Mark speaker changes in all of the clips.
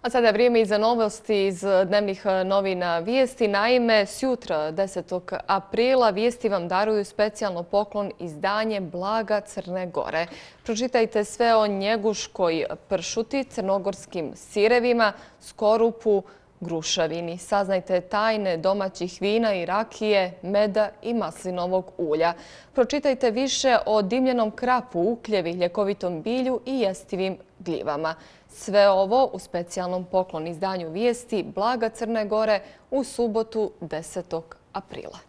Speaker 1: A sada je vrijeme i za novosti iz dnevnih novina Vijesti. Naime, sjutra 10. aprila Vijesti vam daruju specijalno poklon izdanje Blaga Crne Gore. Pročitajte sve o njeguškoj pršuti, crnogorskim sirevima, skorupu, grušavini. Saznajte tajne domaćih vina i rakije, meda i maslinovog ulja. Pročitajte više o dimljenom krapu, ukljevi, ljekovitom bilju i jestivim gljivama. Sve ovo u specijalnom poklon izdanju Vijesti Blaga Crne Gore u subotu 10. aprila.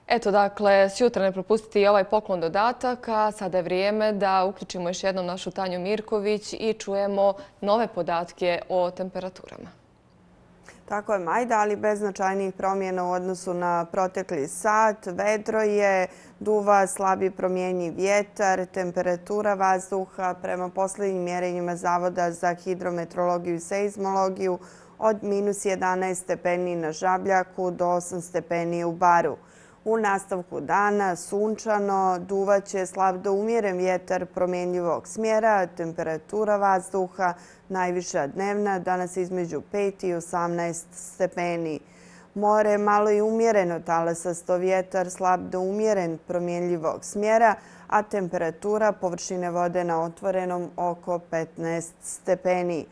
Speaker 1: Eto, dakle, sjutra ne propustiti i ovaj poklon dodatak, a sada je vrijeme da uključimo još jednom našu Tanju Mirković i čujemo nove podatke o temperaturama.
Speaker 2: Tako je, Majda, ali bez značajnijih promjena u odnosu na protekli sat. Vedro je, duva slabi promjenjiv vjetar, temperatura vazduha prema posljednjim mjerenjima Zavoda za hidrometeorologiju i seizmologiju od -11 stepeni na Žabljaku do 8 stepeni u Baru. U nastavku dana sunčano, duvaće slab do umjeren vjetar promjenjivog smjera, temperatura vazduha najviša dnevna, danas između 5 i 18 stepeni. More malo i umjereno, talasasto vjetar slab do umjeren promjenjivog smjera, a temperatura površine vode na otvorenom oko 15 stepeni.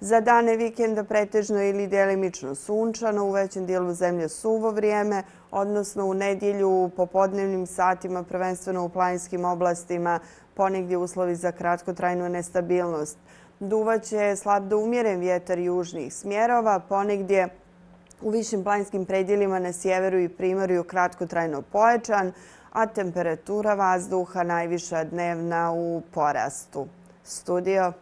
Speaker 2: Za dane vikenda pretežno ili djelimično sunčano, u većem dijelu zemlje suvo vrijeme, odnosno u nedjelju u popodnevnim satima, prvenstveno u planinskim oblastima, ponegdje uslovi za kratkotrajnu nestabilnost. Duvaće slab do umjeren vjetar južnih smjerova, ponegdje u višim planinskim predjelima na sjeveru i primorju kratkotrajno pojačan, a temperatura vazduha najviša dnevna u porastu. Studio.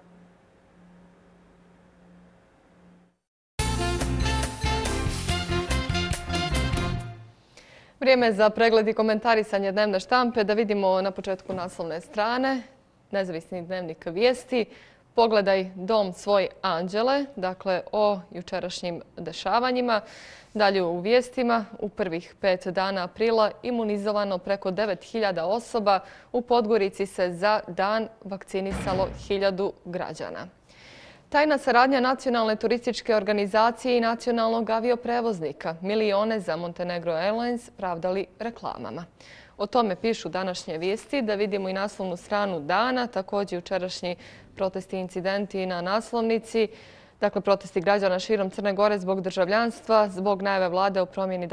Speaker 1: Vrijeme za pregled i komentarisanje dnevne štampe. Da vidimo na početku naslovne strane. Nezavisni dnevnik Vijesti. Pogledaj dom svoj anđele. Dakle, o jučerašnjim dešavanjima. Dalje u vijestima. U prvih 5 dana aprila imunizovano preko 9.000 osoba. U Podgorici se za dan vakcinisalo 1.000 građana. Tajna saradnja Nacionalne turističke organizacije i nacionalnog avioprevoznika. Milione za Montenegro Airlines pravdali reklamama. O tome pišu današnje vijesti. Da vidimo i naslovnu stranu dana. Također jučerašnji protesti i incidenti na naslovnici. Dakle, protesti građana širom Crne Gore zbog državljanstva, zbog najave vlade o promjeni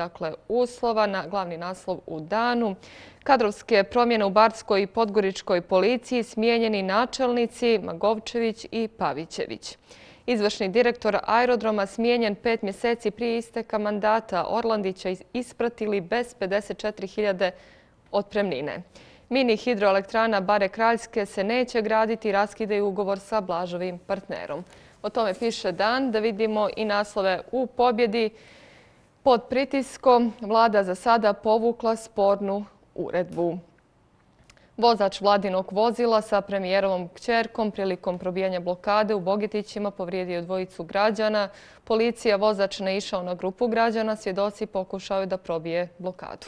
Speaker 1: uslova na glavni naslov u danu. Kadrovske promjene u Barskoj i Podgoričkoj policiji, smijenjeni načelnici Magovčević i Pavićević. Izvršni direktor aerodroma smijenjen 5 mjeseci prije isteka mandata. Orlandića ispratili bez 54.000 otpremnine. Mini hidroelektrana Bare Kraljske se neće graditi, raskidaju ugovor sa Blažovim partnerom. O tome piše Dan. Da vidimo i naslove u pobjedi. Pod pritiskom vlada za sada povukla spornu uredbu. Vozač vladinog vozila sa premijerovom kćerkom prilikom probijanja blokade u Bogetićima povrijedio 2 građana. Policija vozač ne išao na grupu građana, svjedoci pokušao da probije blokadu.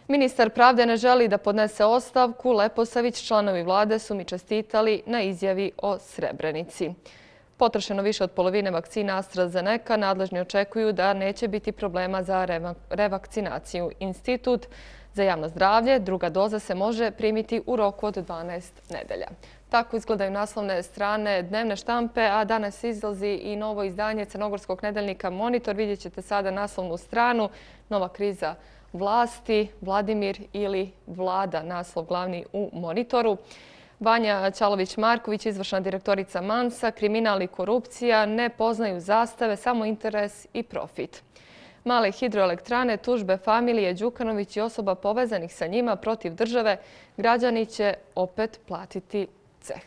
Speaker 1: Ministar pravde ne želi da podnese ostavku. Leposavić, članovi vlade su mi čestitali na izjavi o Srebrenici. Potrošeno više od polovine vakcina AstraZeneca, nadležni očekuju da neće biti problema za revakcinaciju. Institut za javno zdravlje, druga doza se može primiti u roku od 12 nedelja. Tako izgledaju naslovne strane dnevne štampe, a danas izlazi i novo izdanje crnogorskog nedeljnika Monitor. Vidjet ćete sada naslovnu stranu. Nova kriza vlasti, Vladimir ili vlada, naslov glavni u Monitoru. Vanja Ćalović-Marković, izvršna direktorica Mansa, kriminal i korupcija ne poznaju zastave, samo interes i profit. Male hidroelektrane, tužbe familije Đukanović i osoba povezanih sa njima protiv države, građani će opet platiti ceh.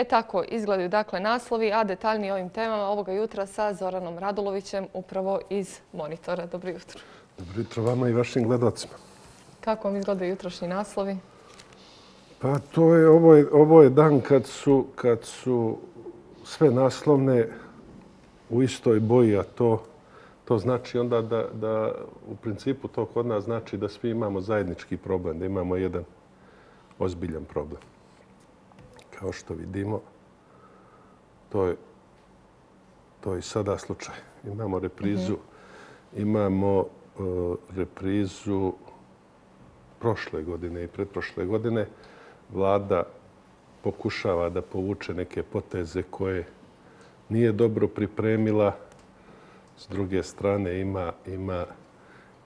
Speaker 1: Tako izgledaju dakle naslovi, a detaljnije o ovim temama ovoga jutra sa Zoranom Radulovićem upravo iz Monitora. Dobro jutro.
Speaker 3: Dobro jutro vama i vašim gledalcima.
Speaker 1: Kako vam izgledaju jutrošnji naslovi?
Speaker 3: Pa ovo je dan kad su sve naslovne u istoj boji, a to znači onda da u principu to kod nas znači da svi imamo zajednički problem, da imamo jedan ozbiljan problem. Kao što vidimo, To je i sada slučaj. Imamo reprizu prošle godine i pretprošle godine. Vlada pokušava da povuče neke poteze koje nije dobro pripremila. S druge strane ima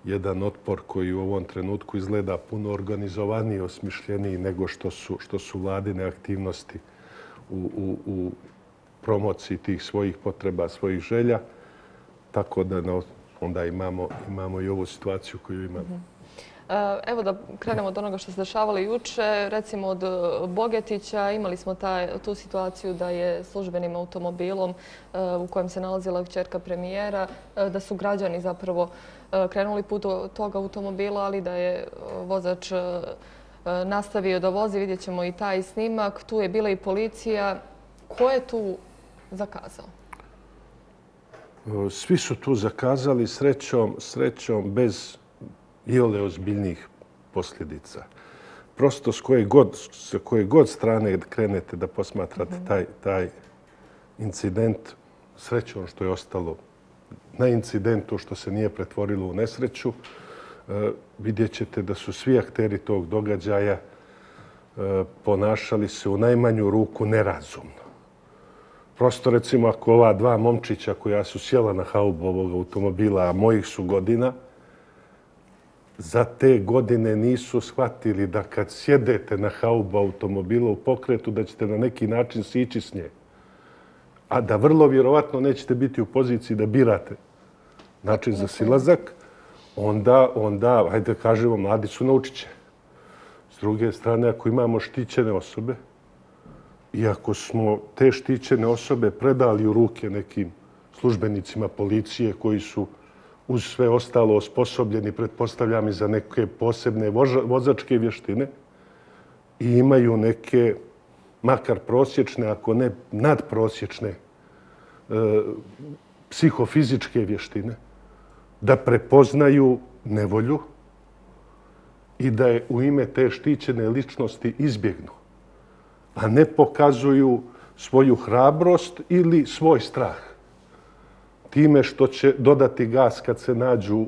Speaker 3: jedan otpor koji u ovom trenutku izgleda puno organizovaniji, osmišljeniji nego što su vladine aktivnosti u promociji tih svojih potreba, svojih želja. Tako da onda imamo i ovu situaciju koju imamo.
Speaker 1: Evo da krenemo od onoga što se dešavalo juče. Recimo od Bogetića imali smo tu situaciju da je službenim automobilom u kojem se nalazila kćerka premijera, da su građani zapravo krenuli put tog automobila, ali da je vozač nastavio da vozi. Vidjet ćemo i taj snimak. Tu je bila i policija. Ko je tu zakazao?
Speaker 3: Svi su tu zakazali, srećom bez iole ozbiljnih posljedica. Prosto s koje god strane krenete da posmatrate taj incident, srećom što je ostalo na incidentu, što se nije pretvorilo u nesreću, vidjet ćete da su svi akteri tog događaja ponašali se u najmanju ruku nerazumno. Prosto recimo ako ova dva momčića koja su sjela na haubu ovog automobila, a mojih su godina, za te godine nisu shvatili da kad sjedete na haubu automobila u pokretu da ćete na neki način sići s nje, a da vrlo vjerovatno nećete biti u poziciji da birate način za silazak, onda, hajde kažemo, mladi su naučit će. S druge strane, ako imamo štićene osobe i ako smo te štićene osobe predali u ruke nekim službenicima policije koji su uz sve ostalo osposobljeni, pretpostavljam i za neke posebne vozačke vještine i imaju neke, makar prosječne, ako ne nadprosječne, psihofizičke vještine, da prepoznaju nevolju i da je u ime te štićene ličnosti izbjegnu, a ne pokazuju svoju hrabrost ili svoj strah time što će dodati gas kad se nađu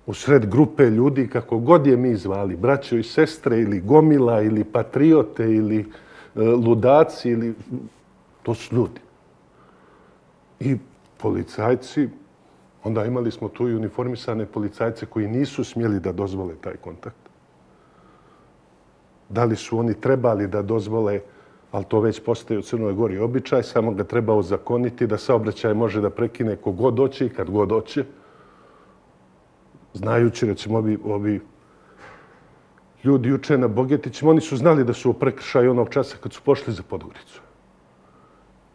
Speaker 3: usred grupe ljudi, kako god je mi zvali, braćo i sestre ili gomila ili patriote ili ludaci, ili to su ljudi. I policajci, onda imali smo tu i uniformisane policajce koji nisu smjeli da dozvole taj kontakt. Da li su oni trebali da dozvole, ali to već postaje u Crnoj Gori običaj, samo ga treba ozakoniti da saobraćaj može da prekine kogod hoće i kad god hoće. Znajući, recimo, ovi ljudi juče na Bogetićima, oni su znali da su u prekršaju onog časa kad su pošli za Podgoricu.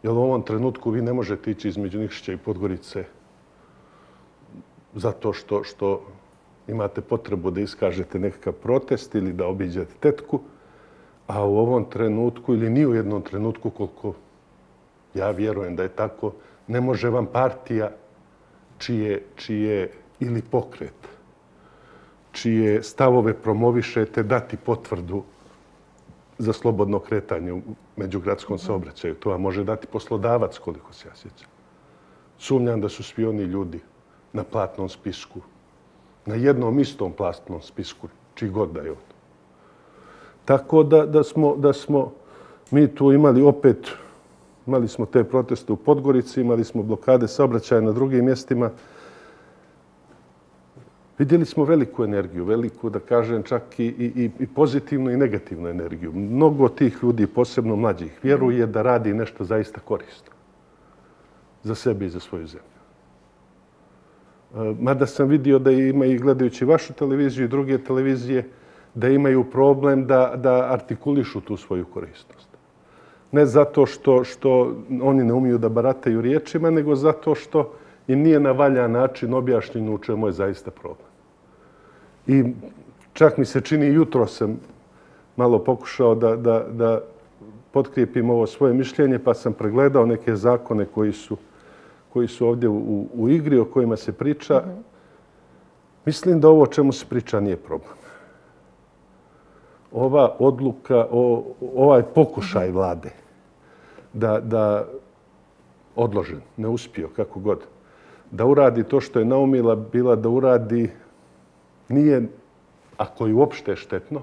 Speaker 3: Jer u ovom trenutku vi ne možete ići između Nikšića i Podgorice zato što imate potrebu da iskažete nekakav protest ili da obiđete tetku, a u ovom trenutku ili ni u jednom trenutku, koliko ja vjerujem da je tako, ne može vam partija čije ili pokret, čije stavove promovišete dati potvrdu za slobodno kretanje u međugradskom saobraćaju. To vam može dati poslodavac, koliko se ja sjećam. Sumnjam da su svi oni ljudi na platnom spisku, na jednom istom platnom spisku, čiji god da je on. Tako da smo mi tu imali smo te proteste u Podgorici, imali smo blokade saobraćaja na drugim mjestima. Vidjeli smo veliku energiju, veliku, da kažem, čak i pozitivnu i negativnu energiju. Mnogo tih ljudi, posebno mlađih, vjeruje da radi nešto zaista korisno za sebe i za svoju zemlju. Mada sam vidio da ima i gledajući vašu televiziju i druge televizije, da imaju problem da artikulišu tu svoju korisnost. Ne zato što oni ne umiju da barataju riječima, nego zato što im nije na valjan način objašnjeno u čemu je zaista problem. I čak mi se čini, jutro sam malo pokušao da potkrijepim ovo svoje mišljenje, pa sam pregledao neke zakone koji su ovdje u igri, o kojima se priča. Mislim da ovo o čemu se priča nije problem. ova odluka, ovaj pokušaj vlade da odložen, ne uspio, kako god, da uradi to što je naumila bila da uradi, nije, ako je uopšte štetno,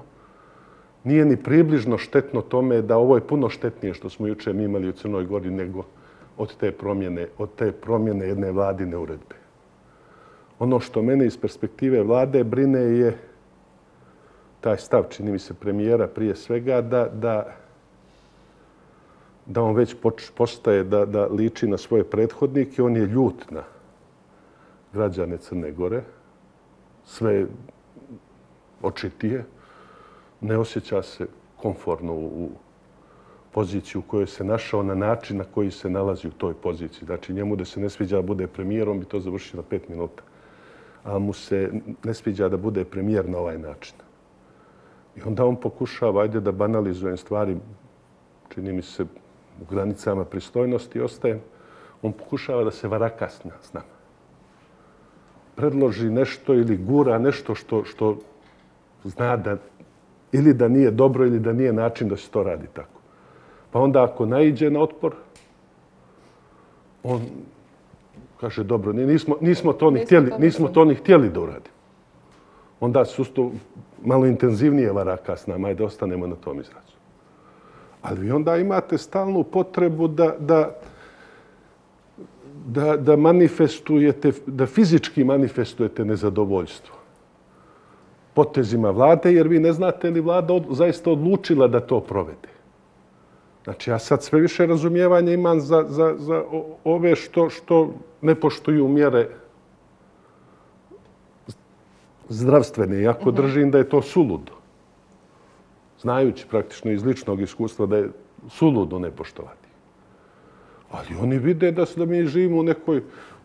Speaker 3: nije ni približno štetno tome da ovo je puno štetnije što smo juče mi imali u Crnoj Gori nego od te promjene jedne vladine uredbe. Ono što mene iz perspektive vlade brine je taj stav, čini mi se, premijera prije svega, da on već postaje da liči na svoje prethodnike. On je ljut na građane Crne Gore. Sve očitije. Ne osjeća se komforno u poziciji u kojoj se našao na način na koji se nalazi u toj poziciji. Znači, njemu da se ne sviđa da bude premijer, on bi to završio na 5 minuta. A mu se ne sviđa da bude premijer na ovaj način. I onda on pokušava, ajde da banalizujem stvari, čini mi se u granicama pristojnosti ostajem, on pokušava da se varaka s nama. Predloži nešto ili gura nešto što zna da ili da nije dobro ili da nije način da se to radi tako. Pa onda ako naiđe na otpor, on kaže dobro, nismo to ni htjeli da uradimo. Onda su to malo intenzivnije varaka s nama i da ostanemo na tom izrazu. Ali vi onda imate stalnu potrebu da manifestujete, da fizički manifestujete nezadovoljstvo potezima vlade, jer vi ne znate li vlada zaista odlučila da to provede. Znači, ja sad sve više razumijevanja imam za ove što ne poštuju mjere zdravstvene, iako držim da je to suludo. Znajući praktično iz ličnog iskustva da je suludo ne poštovati. Ali oni vide da mi živimo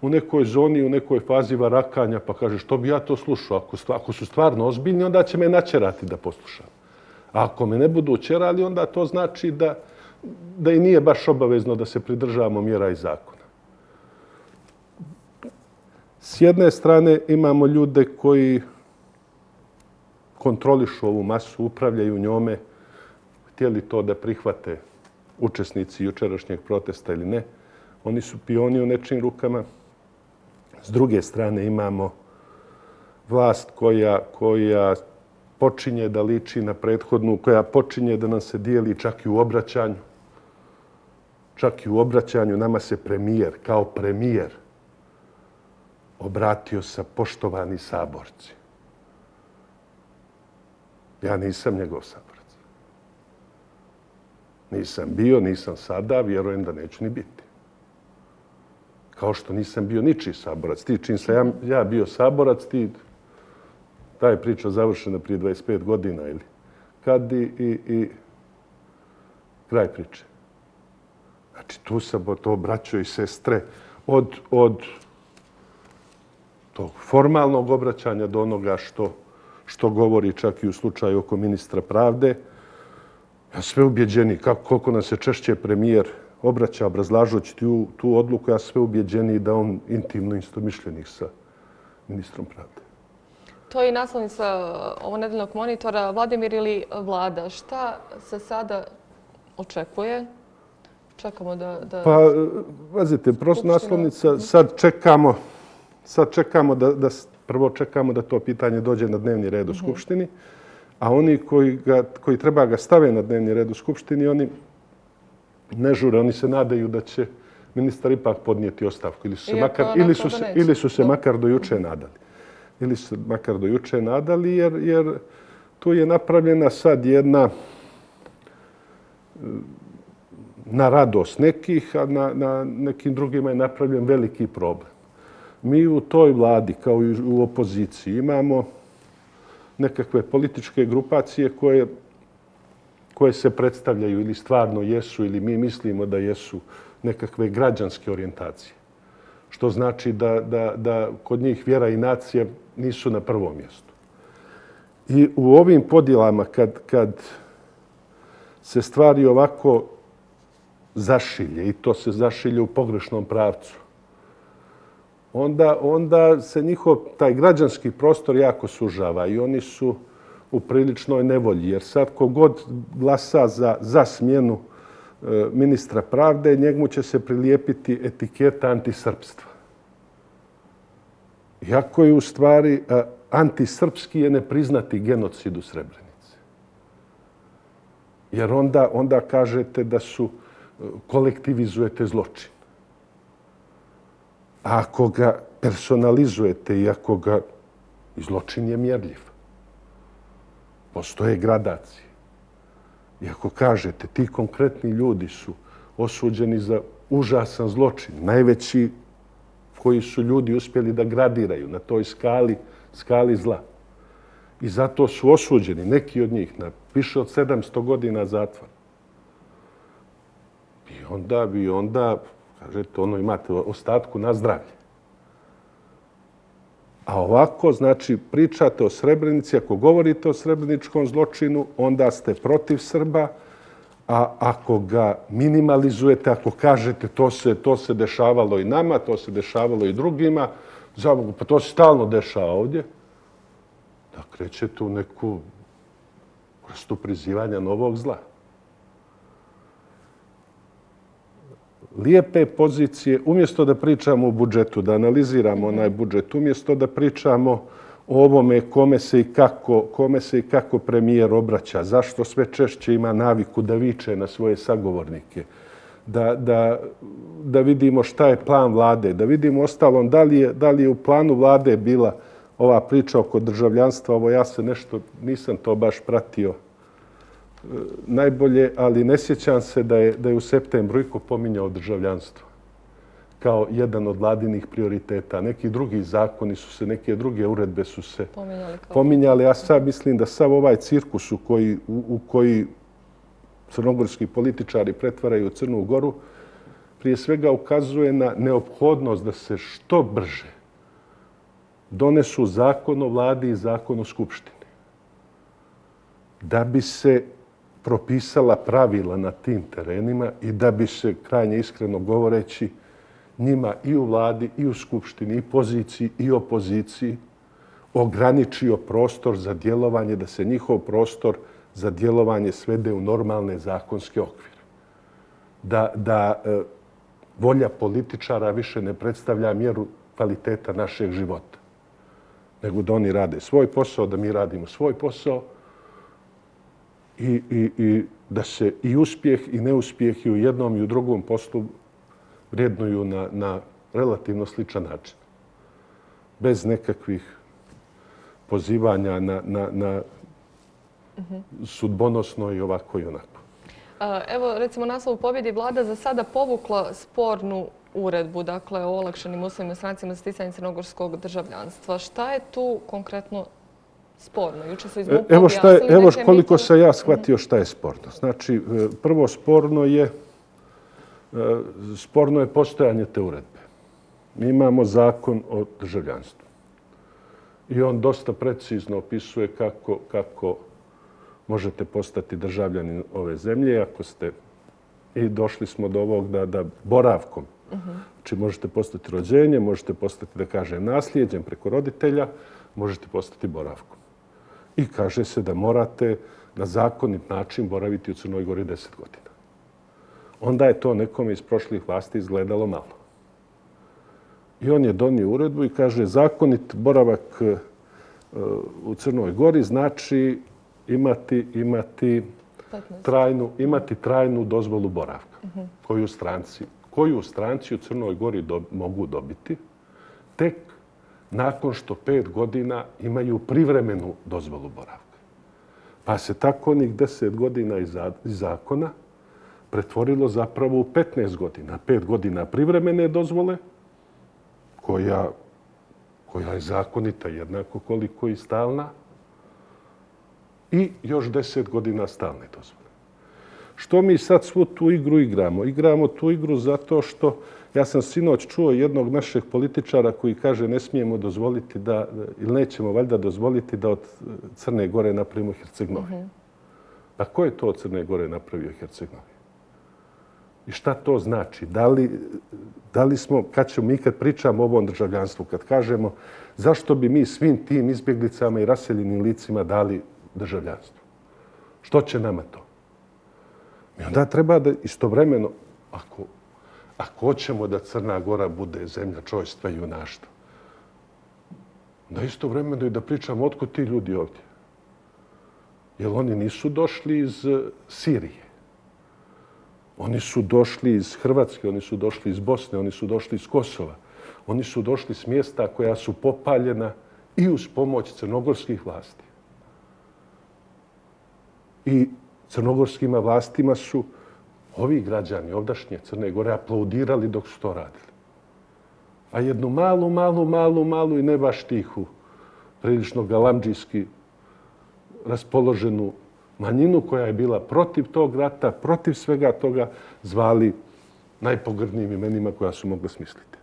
Speaker 3: u nekoj zoni, u nekoj fazi varakanja, pa kaže što bi ja to slušao? Ako su stvarno ozbiljni, onda će me načerati da poslušam. A ako me ne budu čerali, onda to znači da i nije baš obavezno da se pridržavamo mjera i zakona. S jedne strane imamo ljude koji kontrolišu ovu masu, upravljaju njome, htjeli to da prihvate učesnici jučerašnjeg protesta ili ne. Oni su pioni u nečijim rukama. S druge strane imamo vlast koja počinje da liči na prethodnu, koja počinje da nam se dijeli čak i u obraćanju. Čak i u obraćanju nama se premijer, kao premijer, obratio sa poštovani saborci. Ja nisam njegov saborac. Nisam bio, nisam sada, vjerujem da neću ni biti. Kao što nisam bio ničiji saborac. Ti čim sam ja bio saborac, ta je priča završena prije 25 godina ili kad i kraj priče. Znači, tu sam to braćo i sestre od tog formalnog obraćanja do onoga što govori čak i u slučaju oko ministra pravde. Ja sve ubjeđeni, koliko nam se češće premijer obraća obrazlažući tu odluku, ja sve ubjeđeni da on intimno istomišljenik sa ministrom pravde.
Speaker 1: To je i naslovnica ovog nedeljnog monitora. Vladimir ili vlada, šta se sada očekuje? Čekamo da...
Speaker 3: Pa, vazite, prosto naslovnica, sad čekamo prvo čekamo da to pitanje dođe na dnevni red u Skupštini, a oni koji treba ga stave na dnevni red u Skupštini, oni ne žure, oni se nadaju da će ministar ipak podnijeti ostavku ili su se makar do juče nadali. Ili su makar do juče nadali, jer tu je napravljena sad jedna na radost nekih, a na nekim drugima je napravljen veliki problem. Mi u toj vladi, kao i u opoziciji, imamo nekakve političke grupacije koje se predstavljaju ili stvarno jesu ili mi mislimo da jesu nekakve građanske orijentacije. Što znači da kod njih vjera i nacija nisu na prvom mjestu. I u ovim podjelama, kad se stvari ovako zašilje, i to se zašilje u pogrešnom pravcu, onda se njihov taj građanski prostor jako sužava i u priličnoj nevolji. Jer sad kogod glasa za smjenu ministra pravde, njemu će se prilijepiti etiketa antisrpstva. Iako je u stvari antisrpski je ne priznati genocid u Srebrenici. Jer onda kažete da kolektivizujete zločin. A ako ga personalizujete i ako ga... Zločin je mjerljiv. Postoje gradacije. I ako kažete ti konkretni ljudi su osuđeni za užasan zločin, najveći koji su ljudi uspjeli da gradiraju na toj skali zla. I zato su osuđeni, neki od njih, na više od 700 godina zatvora. I onda, kažete, imate ostatku na zdravlje. A ovako, znači, pričate o Srebrenici, ako govorite o srebreničkom zločinu, onda ste protiv Srba, a ako ga minimalizujete, ako kažete to se dešavalo i nama, to se dešavalo i drugima, pa to se stalno dešava ovdje, da krećete u neku vrstu prizivanja novog zla. Lijepe pozicije, umjesto da pričamo o budžetu, da analiziramo onaj budžet, umjesto da pričamo o ovome kome se i kako premijer obraća, zašto sve češće ima naviku da viče na svoje sagovornike, da vidimo šta je plan vlade, da vidimo ostalom da li je u planu vlade bila ova priča oko državljanstva. Ovo ja se nešto, nisam to baš pratio najbolje, ali ne sjećam se da je u septembru iko pominjao državljanstvo kao jedan od vladinih prioriteta. Neki drugi zakoni su se, neke druge uredbe su se pominjali. Ja sad mislim da sav ovaj cirkus u koji crnogorski političari pretvaraju Crnu Goru prije svega ukazuje na neophodnost da se što brže donesu zakon o vladi i zakon o skupštini. Da bi se propisala pravila na tim terenima i da bi se, krajnje iskreno govoreći, njima i u vladi, i u skupštini, i poziciji, i opoziciji ograničio prostor za djelovanje, da se njihov prostor za djelovanje svede u normalne zakonske okvire. Da volja političara više ne predstavlja mjeru kvaliteta našeg života, nego da oni rade svoj posao, da mi radimo svoj posao, i da se i uspjeh i neuspjeh i u jednom i u drugom poslu vrijednuju na relativno sličan način. Bez nekakvih pozivanja na sudbonosno i ovako i onako.
Speaker 1: Evo, recimo, naslov u pobjedi vlada za sada povukla spornu uredbu, dakle, o olakšanim uslovima strancima za sticanje crnogorskog državljanstva. Šta je tu konkretno sporno? Juče su iz MUP-a objasnili
Speaker 3: Evo koliko sam ja shvatio šta je sporno. Znači, prvo sporno je postojanje te uredbe. Mi imamo zakon o državljanstvu. I on dosta precizno opisuje kako možete postati državljanin ove zemlje. Ako ste, i došli smo do ovog da boravkom, znači možete postati rođenjem, možete postati, da kažem, nasljeđem preko roditelja, možete postati boravkom. I kaže se da morate na zakonit način boraviti u Crnoj Gori 10 godina. Onda je to nekome iz prošlih vlasti izgledalo malo. I on je donio uredbu i kaže zakonit boravak u Crnoj Gori znači imati trajnu dozvolu boravka koju stranci u Crnoj Gori mogu dobiti tek nakon što 5 godina imaju privremenu dozvolu boravka. Pa se tako onih 10 godina iz zakona pretvorilo zapravo u 15 godina. 5 godina privremene dozvole, koja je zakonita jednako koliko i stalna, i još 10 godina stalne dozvole. Što mi sad svu tu igru igramo? Igramo tu igru zato što ja sam sinoć čuo jednog našeg političara koji kaže ne smijemo dozvoliti ili nećemo valjda dozvoliti da od Crne Gore napravimo Herceg-Novi. A ko je to od Crne Gore napravio Herceg-Novi? I šta to znači? Da li smo, kad pričamo o ovom državljanstvu, kad kažemo zašto bi mi svim tim izbjeglicama i raseljenim licima dali državljanstvo. Što će nama to? I onda treba da istovremeno, ako hoćemo da Crna Gora bude zemlja čojstva i junaštva, da istovremeno i da pričamo otkud ti ljudi ovdje. Jer oni nisu došli iz Sirije. Oni su došli iz Hrvatske, oni su došli iz Bosne, oni su došli iz Kosova. Oni su došli s mjesta koja su popaljena i uz pomoć crnogorskih vlasti. I crnogorskim vlastima su ovi građani ovdašnje Crne Gore aplaudirali dok su to radili. A jednu malu i ne baš tihu, prilično galamdžijski raspoloženu manjinu koja je bila protiv tog rata, protiv svega toga, zvali najpogrdnijim imenima koja su mogli smisliti.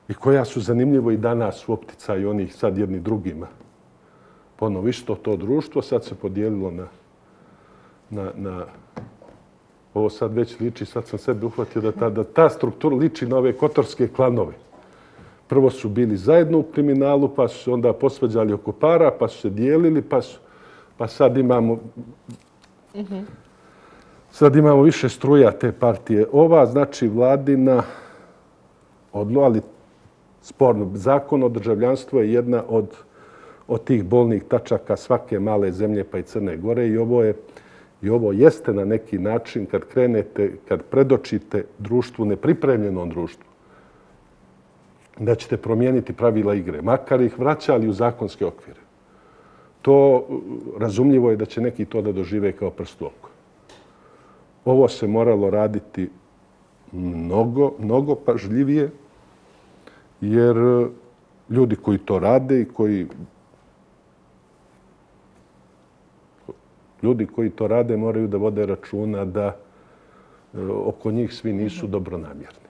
Speaker 3: I koja su zanimljivo i danas u opticaju onih sad jedni drugima. Ponovo isto to društvo sad se podijelilo na ovo sad već liči, sad sam sebi uhvatio da ta struktura liči na ove kotorske klanove. Prvo su bili zajedno u kriminalu, pa su se onda posvađali oko para, pa su se dijelili, pa sad imamo više struja te partije. Ova, znači, vladina, ali sporno, zakon o državljanstvu je jedna od tih bolnih tačaka svake male zemlje, pa i Crne Gore. I ovo jeste na neki način, kad krenete, kad predočite društvu, nepripremljenom društvu, da ćete promijeniti pravila igre, makar ih vraćali u zakonske okvire. To razumljivo je da će neki to da dožive kao prst u oko. Ovo se moralo raditi mnogo pažljivije, jer ljudi koji to rade i ljudi koji to rade moraju da vode računa da oko njih svi nisu dobronamjerni.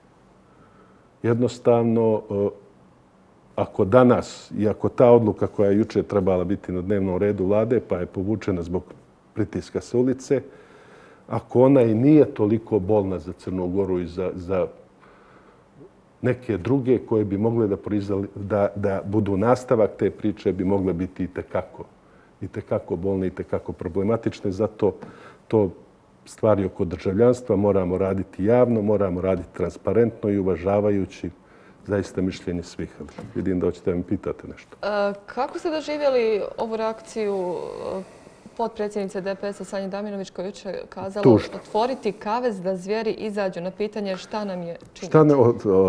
Speaker 3: Jednostavno, ako danas i ako ta odluka koja je juče trebala biti na dnevnom redu vlade, pa je povučena zbog pritiska sa ulice, ako ona i nije toliko bolna za Crnu Goru i za neke druge koje bi mogle da budu nastavak te priče, bi mogle biti i tekako bolne i tekako problematične. Zato to stvari oko državljanstva moramo raditi javno, moramo raditi transparentno i uvažavajući zaista mišljenje svih. Vidim da hoćete da mi pitate nešto.
Speaker 1: Kako ste doživjeli ovu reakciju potpredsjednice DPS-a Sanje Damjanović koja je jučer kazala otvoriti kavez da zvijeri izađu na pitanje šta nam je činiti?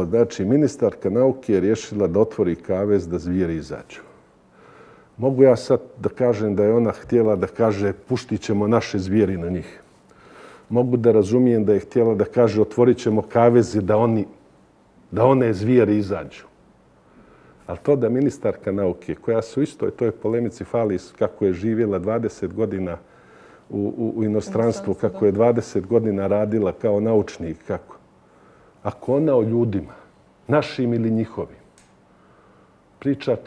Speaker 3: Znači, ministarka nauke je rješila da otvori kavez da zvijeri izađu. Mogu ja sad da kažem da je ona htjela da kaže puštit ćemo naše zvijeri na njih. Mogu da razumijem da je htjela da kaže otvorit ćemo kaveze da one zvijeri izađu. Ali to da ministarka nauke, koja su isto toj polemici fali kako je živjela 20 godina u inostranstvu, kako je 20 godina radila kao naučnik, ako ona o ljudima, našim ili njihovim, priča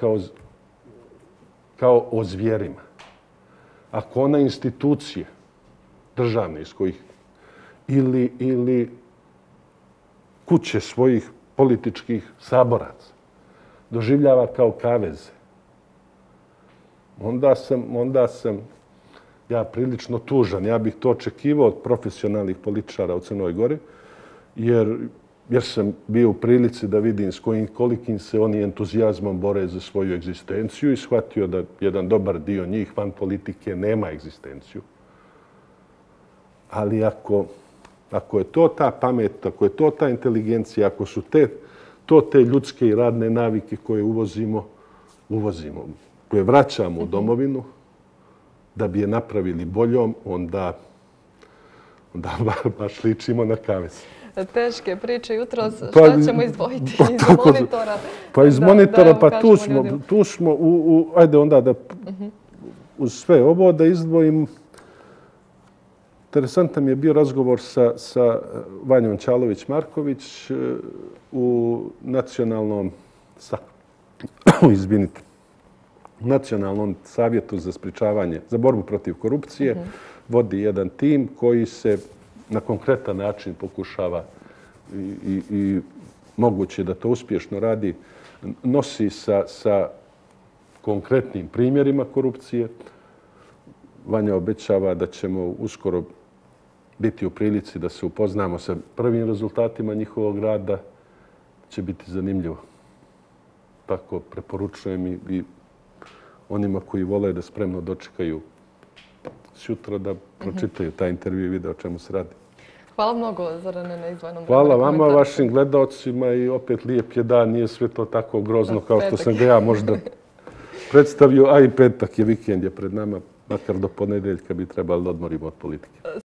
Speaker 3: kao o zvijerima, ako ona institucije državne iz kojih ili kuće svojih političkih saboraca doživljava kao kaveze, onda sam ja prilično tužan. Ja bih to očekivao od profesionalnih političara u Crnoj Gori, jer sam bio u prilici da vidim s kolikim se oni entuzijazmom bore za svoju egzistenciju i shvatio da jedan dobar dio njih van politike nema egzistenciju. Ali ako je to ta pamet, ako je to ta inteligencija, ako su te ljudske i radne navike koje uvozimo, koje vraćamo u domovinu, da bi je napravili boljom, onda baš ličimo na kavez.
Speaker 1: Teške priče jutros. Šta ćemo izdvojiti iz monitora?
Speaker 3: Pa iz monitora, pa tu smo, ajde onda da uz sve ovo da izdvojim. Interesantan je bio razgovor sa Vanjom Čalović-Marković u Nacionalnom savjetu za sprječavanje, za borbu protiv korupcije. Vodi jedan tim koji se na konkretan način pokušava i moguće da to uspješno radi, nosi sa konkretnim primjerima korupcije. Vanja obećava da ćemo uskoro biti u prilici da se upoznamo sa prvim rezultatima njihovog rada. Će biti zanimljivo. Tako preporučujem i onima koji vole da spremno dočekaju sutra da pročitaju taj intervju i vide o čemu se radi.
Speaker 1: Hvala mnogo, Zorane, na izdvojenom
Speaker 3: Hvala vama, vašim gledaocima i opet lijep je dan. Nije sve to tako grozno kao što sam ga ja možda predstavio, a i petak je, vikend je pred nama, makar do ponedeljka bi trebali da odmorimo od politike.